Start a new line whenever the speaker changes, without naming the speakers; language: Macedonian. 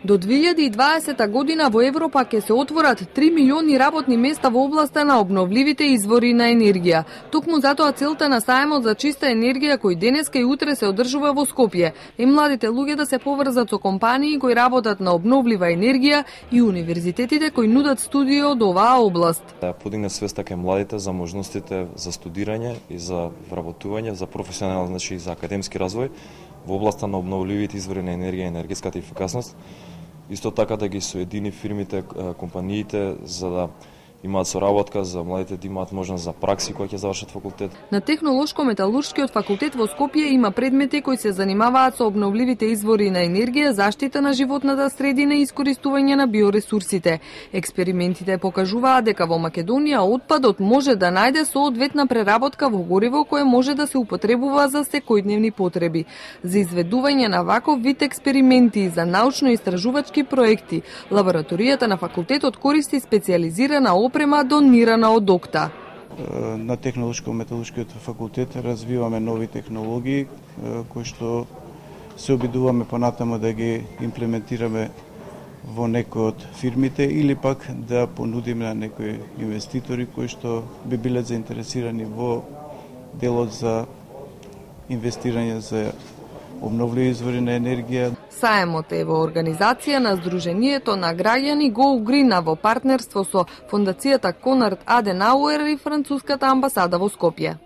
До 2020 година во Европа ќе се отворат 3 милиони работни места во областа на обновливите извори на енергија. Токму затоа целта на сајмот за чиста енергија кој денеска и утре се одржува во Скопје е младите луѓе да се поврзат со компании кои работат на обновлива енергија и универзитетите кои нудат студии од оваа област.
Да подигне свеста кај младите за можностите за студирање и за вработување, за професионален, значи за академски развој во областа на обновливите извори на енергија и енергетската ефикасност. Исто така да ги соедини фирмите, компаниите за да имаат соработка, за младите да имаат можност за пракси кои ќе завршат факултет.
На Технолошко-металуршкиот факултет во Скопје има предмети кои се занимаваат со обновливите извори на енергија, заштита на животната средина и искористување на биоресурсите. Експериментите покажуваат дека во Македонија отпадот може да најде соодветна преработка во гориво кое може да се употребува за секојдневни потреби. За изведување на ваков вид експерименти и за научно-истражувачки проекти, лабораторијата на факултетот користи специјализирана опрема донирана од ОКТА.
На Технолошко-металуршкиот факултет развиваме нови технологии кои што се обидуваме понатаму да ги имплементираме во некои од фирмите или пак да понудиме на некои инвеститори кои што би биле заинтересирани во делот за инвестирање за обновливи извори на енергија.
Саемот е во организација на Сдруженијето на граѓани Go Green во партнерство со Фондацијата Конрад Аденауер и Француската амбасада во Скопје.